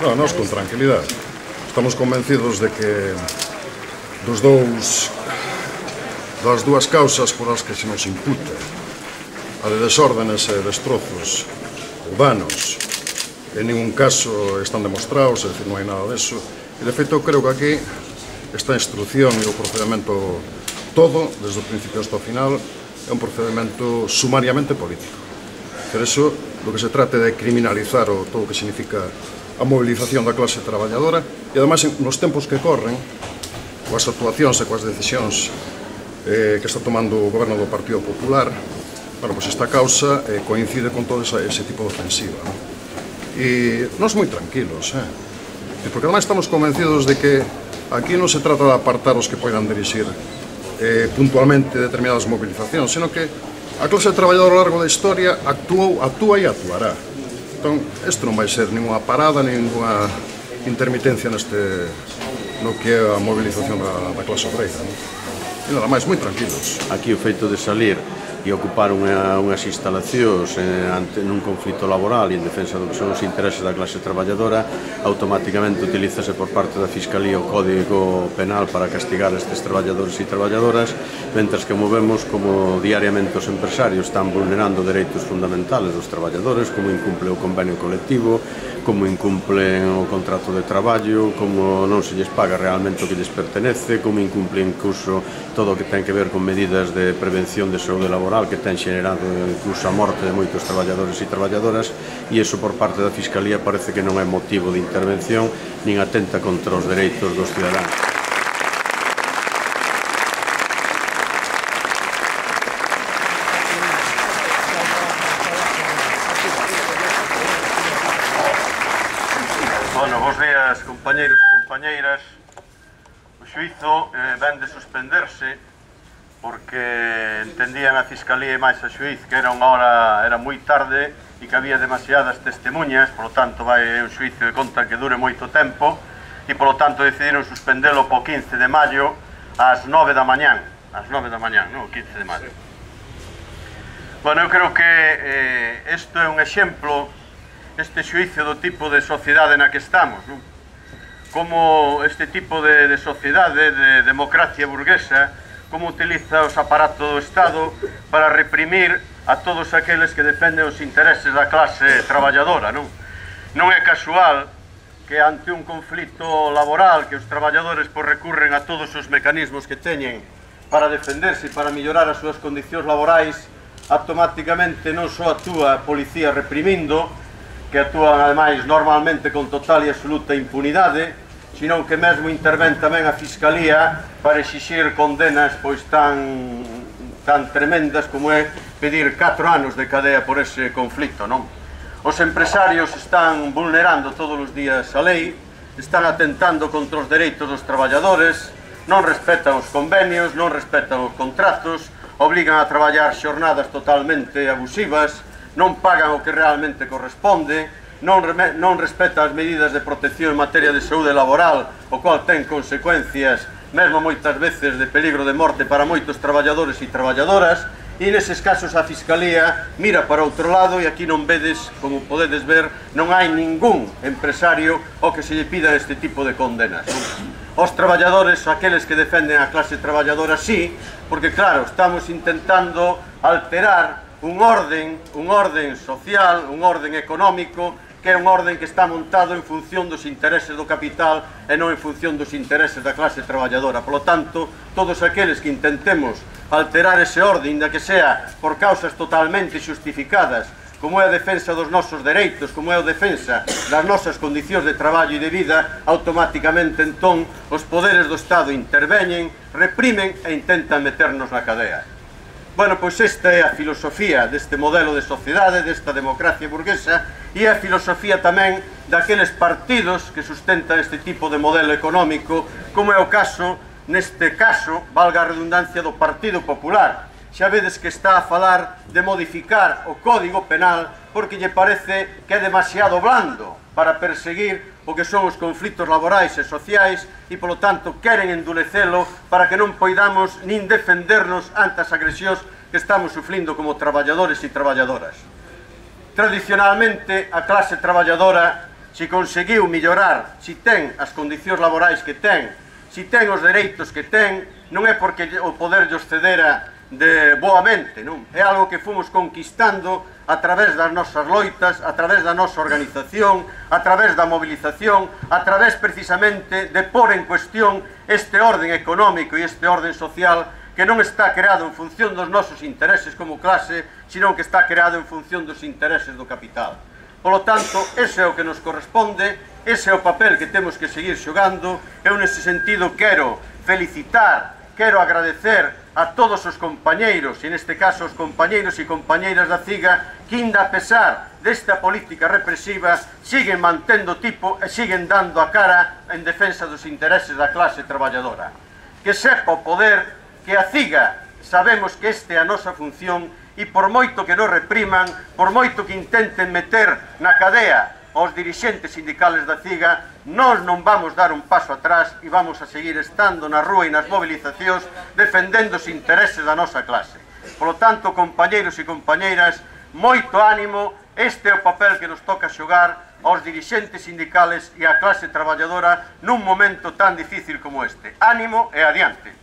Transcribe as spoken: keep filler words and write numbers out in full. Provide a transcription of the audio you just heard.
Non, nós con tranquilidade. Estamos convencidos de que dos dous das dúas causas por as que se nos imputa, a de desórdenes e destrozos ou danos, en ningún caso están demostrados, é dicir, non hai nada deso. E, de feito, eu creo que aquí esta instrucción e o procedimento todo, desde o principio hasta o final, é un procedimento sumariamente político. Por eso, do que se trata de criminalizar o todo o que significa a movilización da clase traballadora e, ademais, nos tempos que corren, coas actuacións e coas decisións eh, que está tomando o goberno do Partido Popular, bueno, pois esta causa eh, coincide con todo esa, ese tipo de ofensiva, ¿no? E nós moi tranquilos, eh? Porque ademais estamos convencidos de que aquí non se trata de apartar os que poidan dirixir eh, puntualmente determinadas movilizacións, sino que a clase traballadora ao largo da historia actuou, actúa e actuará. Entón, isto non vai ser ninguna parada, ninguna intermitencia neste, no que é a movilización da, da clase obreira, ¿no? E nada máis, moi tranquilos. Aquí o feito de salir e ocupar unha, unhas instalacións eh, ante, nun conflito laboral e en defensa do que son os intereses da clase traballadora, automáticamente utilízase por parte da Fiscalía o Código Penal para castigar estes traballadores e traballadoras, mentres que movemos como diariamente os empresarios están vulnerando dereitos fundamentales dos traballadores, como incumple o convenio colectivo, como incumplen o contrato de traballo, como non se lles paga realmente o que lles pertenece, como incumple incluso todo o que ten que ver con medidas de prevención de saúde laboral que ten xenerado incluso a morte de moitos traballadores e traballadoras, e iso por parte da Fiscalía parece que non é motivo de intervención nin atenta contra os dereitos dos cidadáns. Bueno, bos días, compañeiros e compañeiras. O xuízo eh, ven de suspenderse porque entendían a Fiscalía e máis a xuíz que era unha hora, era moi tarde e que había demasiadas testemunhas, polo tanto vai un xuízo de conta que dure moito tempo e polo tanto decidiron suspendelo po quince de maio ás nove da mañán, ás nove da mañán, non? O quince de maio. Bueno, eu creo que eh, isto é un exemplo, este xuízo do tipo de sociedade na que estamos, non? Como este tipo de, de sociedade, de democracia burguesa, como utiliza os aparatos do Estado para reprimir a todos aqueles que defenden os intereses da clase traballadora, non? Non é casual que ante un conflito laboral que os traballadores pois, recurren a todos os mecanismos que teñen para defenderse e para mellorar as súas condicións laborais, automáticamente non só actúa a policía reprimindo, que actúan ademais normalmente con total e absoluta impunidade, sino que mesmo intervén tamén a Fiscalía para exixir condenas pois tan, tan tremendas como é pedir catro anos de cadea por ese conflito, non? Os empresarios están vulnerando todos os días a lei, están atentando contra os dereitos dos traballadores, non respetan os convenios, non respetan os contratos, obligan a traballar xornadas totalmente abusivas, non pagan o que realmente corresponde, non, non respeta as medidas de protección en materia de saúde laboral, o cual ten consecuencias, mesmo moitas veces, de peligro de morte para moitos traballadores e traballadoras, e neses casos a Fiscalía mira para outro lado e aquí non vedes, como podedes ver, non hai ningún empresario ao que se lle pida este tipo de condenas. Os traballadores, aqueles que defenden a clase traballadora, sí, porque claro, estamos intentando alterar un orden, un orden social, un orden económico, que é un orden que está montado en función dos intereses do capital e non en función dos intereses da clase traballadora. Por lo tanto, todos aqueles que intentemos alterar ese orden, da que sea por causas totalmente xustificadas, como é a defensa dos nosos dereitos, como é a defensa das nosas condicións de traballo e de vida, automáticamente entón os poderes do Estado interveñen, reprimen e intentan meternos na cadea. Bueno, pois esta é a filosofía deste modelo de sociedade, desta democracia burguesa, e a filosofía tamén daqueles partidos que sustentan este tipo de modelo económico, como é o caso, neste caso, valga a redundancia, do Partido Popular. Xa vedes que está a falar de modificar o Código Penal porque lle parece que é demasiado blando para perseguir o que son os conflitos laborais e sociais e, polo tanto, queren endurecelo para que non poidamos nin defendernos ante as agresións que estamos sufrindo como traballadores e traballadoras. Tradicionalmente, a clase traballadora si conseguiu mellorar, si ten as condicións laborais que ten, si ten os dereitos que ten, non é porque o poder llos cedera de boamente, non? É algo que fomos conquistando a través das nosas loitas, a través da nosa organización, a través da movilización, a través precisamente de pôr en cuestión este orden económico e este orden social que non está creado en función dos nosos intereses como clase, sino que está creado en función dos intereses do capital. Polo tanto, ese é o que nos corresponde, ese é o papel que temos que seguir xogando. Eu nese sentido quero felicitar, quero agradecer a todos os compañeiros, e neste caso os compañeiros e compañeiras da CIGA, que ainda a pesar desta política represiva siguen mantendo tipo e siguen dando a cara en defensa dos intereses da clase traballadora. Que sepa o poder que a CIGA sabemos que esta é a nosa función, e por moito que nos repriman, por moito que intenten meter na cadea aos dirixentes sindicales da CIGA, nós non vamos dar un paso atrás e vamos a seguir estando na rúa e nas movilizacións defendendo os intereses da nosa clase. Por lo tanto, compañeiros e compañeiras, moito ánimo, este é o papel que nos toca xogar aos dirixentes sindicales e á clase traballadora nun momento tan difícil como este. Ánimo e adiante.